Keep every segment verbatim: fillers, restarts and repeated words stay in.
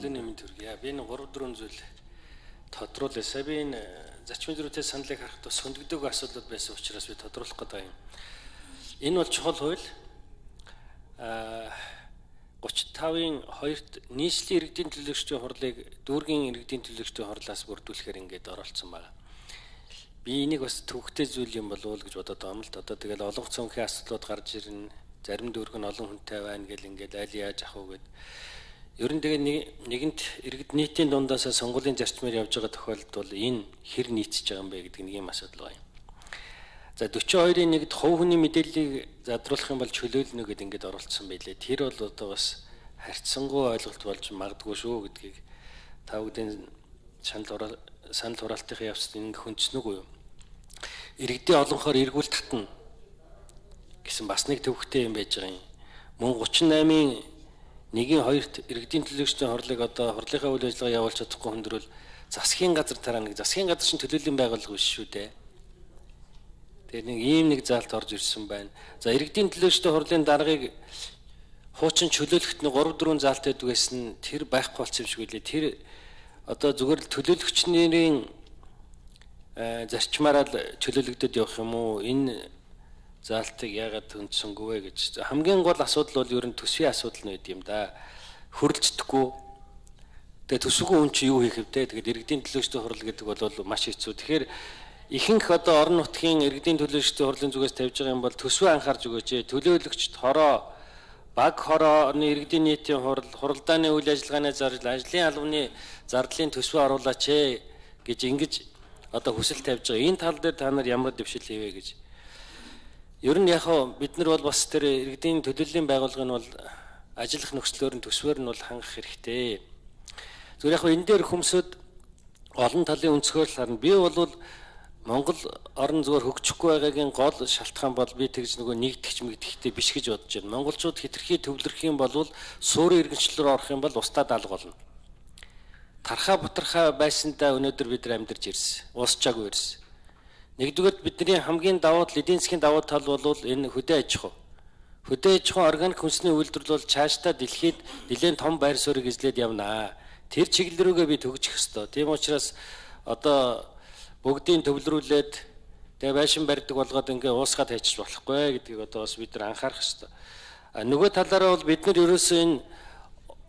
Өглөөний мэнд хүргэе. Би энэ гурав дөрвөн зүйл тодруулъя. Би энэ зарчмын зөрүүтэй саналыг харахад бас хөндөгдөг асуудлууд байсан учраас би тодруулах гэдэг юм. Энэ бол чухал хууль. Аа гуравч тавын хоёрт нийслэлийн иргэдийн төлөөлөгчдийн хурлыг дүүргийн иргэдийн төлөөлөгчдийн хурлаас бүрдүүлэхээр ингээд оролцсон байна. Би энийг бас төвхтэй зүйл юм болов уу гэж бодоод байгаа юм л. Одоо тэгэл олон цонхийн асуудлууд гарч ирнэ. Зарим дүүрэг нь олон хүнтэй байна гэл ингээд аль яаж ах уу гэд. Ер нь тэгээ нэгэнт иргэд нийтийн дундаас сонгуулийн зарчмаар явж байгаа тохиолдолд бол энэ хэр нийцэж байгаа юм бэ гэдэг нэг юм асуудал байна. За forty-two хоёрын нэгд хувь хүний мэдээллийг задруулах юм бол чөлөөлнө гэдээ ингээд оролцсон байлээ. Тэр бол одоо бас харьцангуй ойлголт болж магадгүй шүү гэдгийг та бүхэн санал санал хураалтын явцад ингэ хүндсэн үгүй юу? Иргэдийн олонхоор эргүүл татна гэсэн бас нэг төвхтэй юм байж байгаа юм. Мөн thirty-eight-ийн нэгin хоёрт иргэдийн төлөөлөгчдийн хурлыг одоо хурлынхаа үйл ажиллагаа явуулж чадахгүй хүндрэл засгийн газар тараа нэг засгийн газар шин төлөөллийн байгууллага биш шүү дээ. Тэгээ нэг ийм нэг заалт орж ирсэн байна. За иргэдийн төлөөлөгчдийн хурлын даргаыг хуучин чөлөөлөхт нэг three four заалт байдаг гэсэн тэр байхгүй болсон юм шиг үлээ. Тэр одоо зүгээр л төлөөлөгчнэрийн зарчмаараа чөлөөлөгдөд явах юм уу? Энэ заалтыг яагаад хүндсэнгүй вэ гэж. Хамгийн гол асуудал бол ер нь төсвийн асуудал нь байд юм да. Хөрөлцдөггүй. Тэгээ төсвгүй хүн чи юу хийх вэ? Тэгээд иргэдийн төлөөлөгчдийн хурал гэдэг бол маш хэцүү. Тэгэхээр ихэнх одоо орон нутгийн иргэдийн төлөөлөгчдийн хурлын зүгээс тавьж байгаа юм бол төсвөө анхаарч өгөөч. Төлөөлөгчд хороо баг хорооны иргэдийн нийтийн хурал, хуралдааны үйл ажиллагааны зардал, ажлын албаны зардлын төсвөө оруулаач гэж ингэж одоо хүсэл тавьж байгаа. Энэ тал дээр та нар ямар дэвшил хийвэ гэж. Ер нь яг бид нар бол бас тэр иргэдийн төлөөллийн байгууллагын бол ажиллах нөхцлөөр нь төсвөр нь бол хангах хэрэгтэй. Зүгээр яг энэ дээр хүмүүсд олон талын өнцгөр л харна. Би бол Монгол орон зүгээр хөгжихгүй байгаагийн гол шалтгаан бол би тэгж нөгөө нэгтгэж мэгдэхтэй биш гэж бодож байна. Монголчууд хитрхи төвлөрөх юм бол суурин иргэншлэлөөр орох юм бол устдад алга болно. Тархаа бутархаа байсандаа өнөөдөр бид нар амьдарч ирсэн. Уусчаагүй ирсэн. Нэгдүгээр бидний хамгийн давуу тал, эдийн засгийн давуу тал бол энэ хөдөө аж ахуй. Хөдөө аж ахуй органик хүнсний үйлдвэрлэл бол цаашдаа дэлхийд нэлээд том байр суурийг эзлээд явнаа. Тэр чиглэл рүүгээ би төгжих ёстой. Тийм учраас одоо бүгдийг төвлөрүүлээд тэгээ байшин барьдаг болгоод ингээ уусгаад хайчих болохгүй гэдгийг одоо бас бид нар анхаарах ёстой. Нөгөө талаараа бол бид нар ерөөсөө энэ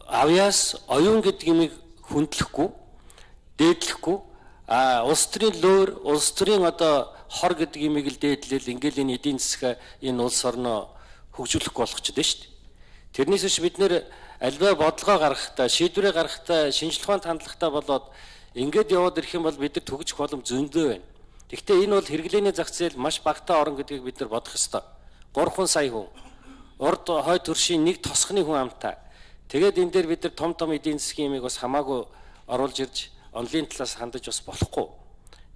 авьяас оюун гэдэг юмыг хүндлэхгүй, дээдлэхгүй, а улс төрийн лөөр, улс төрийн одоо хор гэдэг юмыг л дээдлэл ингээл энэ эдийн засаг энэ улс орноо хөгжүүлэхгүй болгочиход байна шүү дээ. Тэрнээс биш бид нэр альва бодлогоо гаргахтаа, шийдвэрээ гаргахтаа, шинжлэх ухаанд хандлагатай болоод ингээд яваад ирэх юм бол бид нар төгжих боломж зөндөө байна. Гэхдээ энэ бол хэрэглээний зах зээл маш багтаа орно гэдгийг бид нар бодох ёстой. Гурван сая хүн, урд хой төршийн нэг тосхны хүн амтай. Тэгээд энэ дээр бид нар том том эдийн засгийн юмыг бас хамаагүй оруулж ирж онлын талаас хандаж бас болохгүй.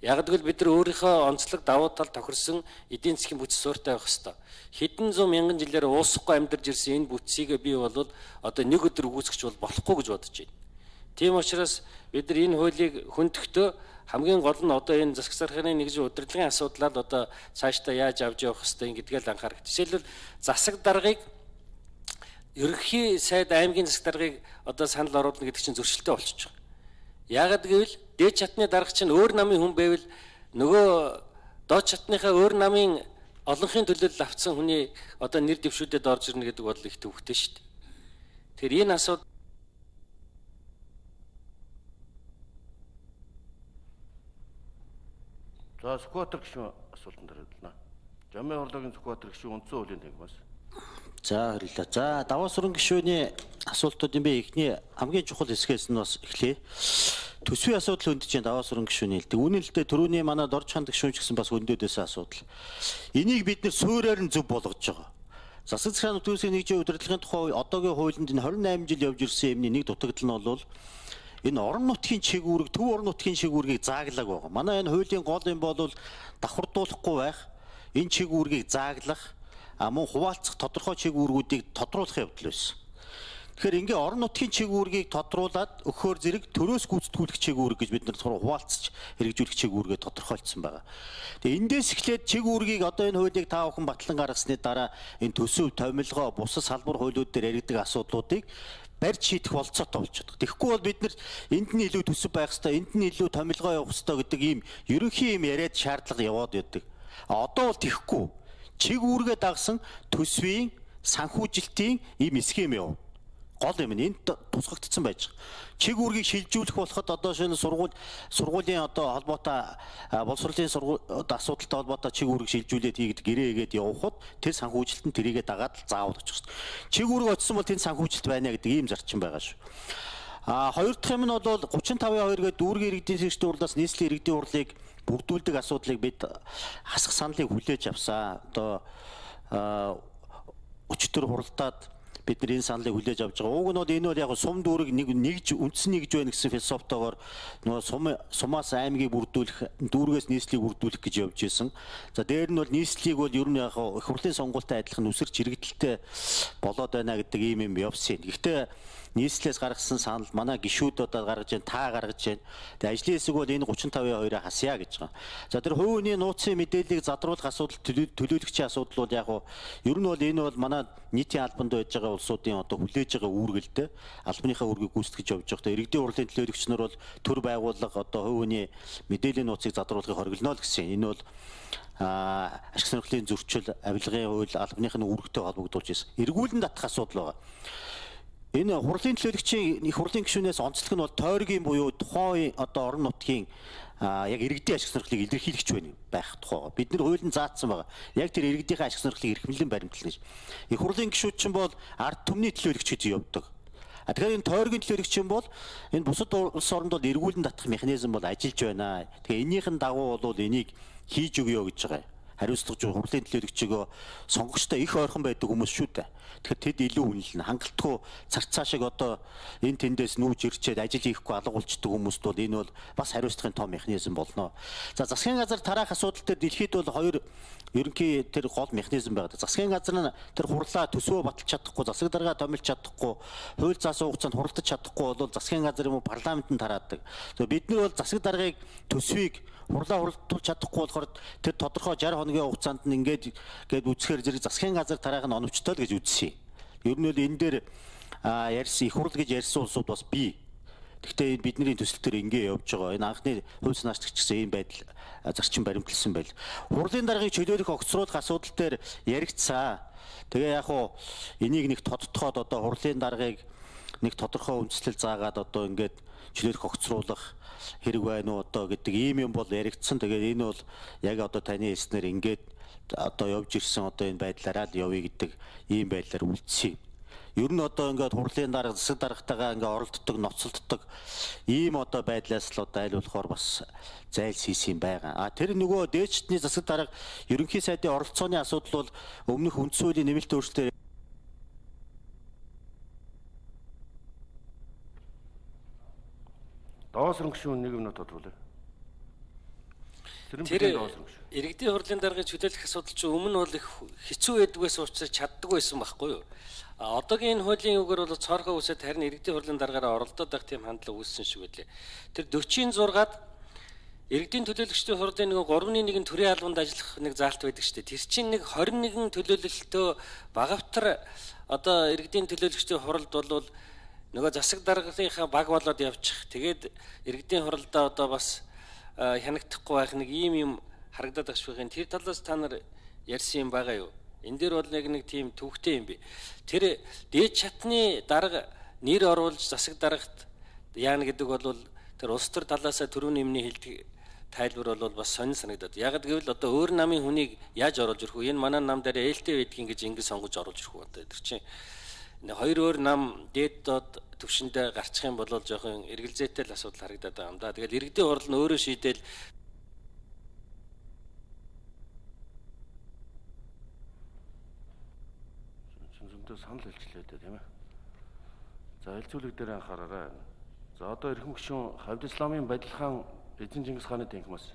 Яг гэвэл бид нар өөрийнхөө онцлог давуу тал тохирсон эдийн засгийн бүтц суурьтай байх ёстой. Хэдэн зуун мянган жилээр уусахгүй амьдарч ирсэн энэ бүтцийг би бол одоо нэг өдөр үүсгэж бол болохгүй гэж бодож байна. Тийм учраас бид нар энэ хуулийг хөндөхдөө хамгийн гол нь одоо энэ засаг зархааны нэгжийн удирдлагын асуудлаар одоо цаашдаа яаж авч явах ёстой гэдгээл анхаарах. Жишээлбэл засаг даргыг ерөнхий сайд аймгийн засаг даргыг одоо санал оруулна гэдэг чинь зөрчилтэй болчихж байгаа. Яагаад гэвэл дээд чатны дарга чинь өөр намын хүн байвал нөгөө доод чатныхаа өөр намын олонхын төлөөлөл авцсан хүний одоо нэр дэвшүүдэд орж ирнэ гэдэг бол их төвхтэй шүү дээ. Тэгэхээр энэ асуудал За Сүхбаатар гишүүн асуултанд хариулна. Жамын хурлын Сүхбаатар гишүүн үндсэн хуулийн тагмаас. За харилаа. За даваа суран гишүүний асуултуудын би эхний хамгийн чухал хэсгээс нь бас эхлэе. Төсвийн асуудал хөндөж чинь даваа суран гишүүний хэлдэг. Үнэн л дээ түрүүний манай дорж ханд гишүүн ч гэсэн бас хөндөдөөсөн асуудал. Энийг бид нэр суурьаар нь зөв болгож байгаа. Засаг захиргааны төсвийн нэгжийн удирдлагын тухай одоогийн хуулинд энэ twenty-eight жил явж ирсэн юмны нэг дутагдал нь бол энэ орон нутгийн чигүүрэг, төв орон нутгийн чигүүргийг зааглаг байгаа. Манай энэ хуулийн гол юм бол давхардуулахгүй байх, энэ чигүүргийг зааглах, а мөн хуваалцах тодорхой чигүүргүүдийг тодруулах явдал байсан. Тэгэхээр ингээ орон нутгийн чигүүргийг тодруулаад өгөхөр зэрэг төрөөс гүйцэтгүүлэх чигүүрэг гэж бид нар хуваалцаж хэрэгжүүлэх чигүүргээ тодорхойлцсон байгаа. Тэгээ эндээс эхлээд чигүүргийг одоо энэ хуулийг та бүхэн батлан гаргасны дараа энэ төсөв, томилгоо, бусад салбар хуулиуд дээр яригддаг асуудлуудыг барьж шийдэх болцоотой болчиход. Тэгэхгүй бол бид нар энд нь илүү төсөв байх хэрэгтэй, энд нь илүү томилгоо явах хэрэгтэй гэдэг ийм ерөнхий юм яриад шаардлага яваад байдаг. А одоо бол тэгэхгүй. Чиг үүргээ дагсан төсвийн санхүүжилтийн ийм схем яв. Гол юм нь энд тусгагдсан байж байгаа. Чиг үүргийг шилжүүлэх болоход одоо шинэ сургууль сургуулийн одоо холбоотой боловсролын сургууль асуудалтай холбоотой чиг үүрэг шилжүүлээд хийгээд гэрээгээд явхад тэр санхүүжилт нь тэрийгэ дагаад заавал очих хэрэгтэй. Чиг үүрэг очсон бол тэнд санхүүжилт байна гэдэг ийм зарчим байгаа шүү. А хоёр дахь юм нь бол гучин тавын хоёр гэдэг дүүргийн иргэдийн сэргчдийн хурлаас нийслэлийн иргэдийн хурлыг бүрдүүлдэг асуудлыг бид хасах саналыг хүлээж авсан. Одоо өчтөр хуралдаад бид нар энэ саналыг хүлээж авч байгаа. Уг нь бол энэ бол яг сум дүүрэг нэг нэгж үндсэн нэгж байна гэсэн философитойгоор нөгөө сум сумаас аймгийг бүрдүүлэх, дүүргээс нийслэлийг бүрдүүлэх гэж явж исэн. За дээр нь бол нийслэлийг бол ер нь яг их хурлын сонгуультай адилхан үсэрч хэрэгдэлтэй болоод байна гэдэг ийм юм явсан. Гэхдээ нийслэлээс гаргасан санал манай гишүүд одоо гаргаж байна, та гаргаж байна. Тэгээ ажлын хэсэг бол энэ гучин тавын хоёроо хасъя гэж байгаа. За тэр хувийн нууцын мэдээллийг задруулах асуудал, төлөөлөгчийн асуудал бол яг нь ер нь бол энэ бол манай нийтийн албанд байж байгаа улсуудын одоо хүлээж байгаа үүргэлтэй албаныхаа үүргийг гүйцэтгэж явж байгаа. Иргэдийн хурлын төлөөлөгч нар бол төр байгууллага одоо хувийн мэдээллийн нууцыг задруулахыг хориглоно л гэсэн. Энэ бол а ашиг сонирхлын зөрчил, авилгын хууль, албаныхын үүрэгтэй холбогдуулж ирсэн. Эргүүлэн татах асуудал байгаа. Энэ хурлын төлөөлөгчийн их хурлын гишүүнээс онцлог нь бол тойргийн буюу тухайн одоо орон нутгийн яг иргэдийн ашиг сонирхлыг илэрхийлэгч байна байх тухай. Бид нар хуулинд заасан байгаа. Яг тэр иргэдийн ашиг сонирхлыг эрхэмлэн баримтлана гэж. Их хурлын гишүүд чинь бол ард түмний төлөөлөгч гэж явдаг. А тэгэхээр энэ тойргийн төлөөлөгч бол энэ бусад улс оронд бол эргүүлэн татах механизм бол ажиллаж байна. Тэгэхээр энийхэн дагуу бол энийг хийж өгөө гэж байгаа. Хариуцлага жоо хурлын төлөөлөгчөөгөө сонгогчтой их ойрхон байдаг хүмүүс шүү дээ. Тэгэхээр тэд илүү үнэлнэ. Хангалтгүй цар цаашиг одоо энэ тэндээс нүүж ирчээд ажил хийхгүй алга болчдөг хүмүүст бол энэ бол бас хариуцлагын том механизм болно. За засгийн газар тараах асуудал дээр дэлхийд бол хоёр ерөнхий тэр гол механизм байгаа. Засгийн газар нь тэр хурлаа төсвөө баталж чадахгүй, засаг даргаа томилж чадахгүй, хууль заасан хугацаанд хуралдаж чадахгүй бол засгийн газар юм уу парламент нь тараадаг. Тэгээ бид нар бол засаг даргаыг төсвийг хурлаа хуралдуулж чадахгүй болохоор тэр тодорхой шарь хоногийн хугацаанд нь ингээд гээд үсгээр зэрэг засгийн газар тараах нь оновчтой л гэж үзсэн. Ер нь бол энэ дээр ярьсан их хурл гэж ярьсан улсууд бас бий. Гэхдээ энэ бидний төсөл төр ингээ явж байгаа. Энэ анхны хувь санаачлагч гэсэн ийм байдал зарчим баримтлсан байл. Хурлын даргаыг чөлөөлөх огцруулах асуудал дээр яригдсан. Тэгээ яг хуу энийг нэг тодтоход одоо хурлын даргаыг нэг тодорхой үндэслэл заагаад одоо ингээд чөлөөлөх огцруулах хэрэг байна уу одоо гэдэг ийм юм бол яригдсан. Тэгээд энэ бол яг одоо таны хэлснээр ингээд одоо явж ирсэн одоо энэ байдлаараа л явъя гэдэг ийм байдлаар үлдсэн. Ер нь одоо ингээд хурлын дарга засаг даргатайгаа ингээд оролддог, ноцолддог ийм одоо байдлаас л одоо аль болохоор бас зайлсхийсэн байгаа. А тэр нөгөө дээчдний засаг дарга ерөнхий сайдын оролцооны асуудал бол өмнөх үндс хуулийн нэмэлт өөрчлөлтөөр Даваасрын гишүүн нэг минут тодруулъя. Тэр иргэдийн хурлын даргыг чөлөөлөх асуудал чинь өмнө бол их хэцүү байдаг байсан учраас чаддаг байсан байхгүй юу? А одоогийн энэ хуулийн үгээр бол цоорхоо үсэд харин иргэдийн хурлын даргаараа оролдоод байх тийм хандлага үүссэн шиг байлээ. Тэр сорок зургаад иргэдийн төлөөлөгчдийн хурлын нэг гуравны нэгэн төрийн албанд ажиллах нэг заалт байдаг шүү дээ. Тэр чинь нэг хорин нэгэн төлөөлөлтөө багавтар одоо иргэдийн төлөөлөгчдийн хуралд бол нөгөө засаг даргалынхаа баг болоод явчих. Тэгээд иргэдийн хуралдаа одоо бас хянагдахгүй байх нэг ийм юм харагдаад багш байна. Тэр талаас та нар ярьсан юм байгаа юу? Энэ дээр бол яг нэг тийм төвхтэй юм би. Тэр дээд чатны дарга нэр оруулж засаг дарагт яана гэдэг бол тэр улс төр талаасаа түрүүний юмний хэлдэг тайлбар бол бас сонир санагдаад. Яг гэвэл одоо өөр намын хүнийг яаж оруулж ирэх вэ? Энэ манай нам дээр ээлтэй байдгийг ингэж ингэ сонгож оруулж ирэх үү? Одоо тэр чинь хоёр өөр нам дээд доод төвшөндөө гарчих юм бол жоохон эргэлзээтэй л асуудал харагдаад байгаа юм да. Тэгэл иргэдийн хурал нь өөрөө шийдэл зөндөө санал хэлчлээ дээ тийм ээ. За хэлцүүлэг дээр анхаараарай. За одоо эрхэм гишүүн Хавд Исламын Бадилхан Эзэн Чингис хааны танхимаас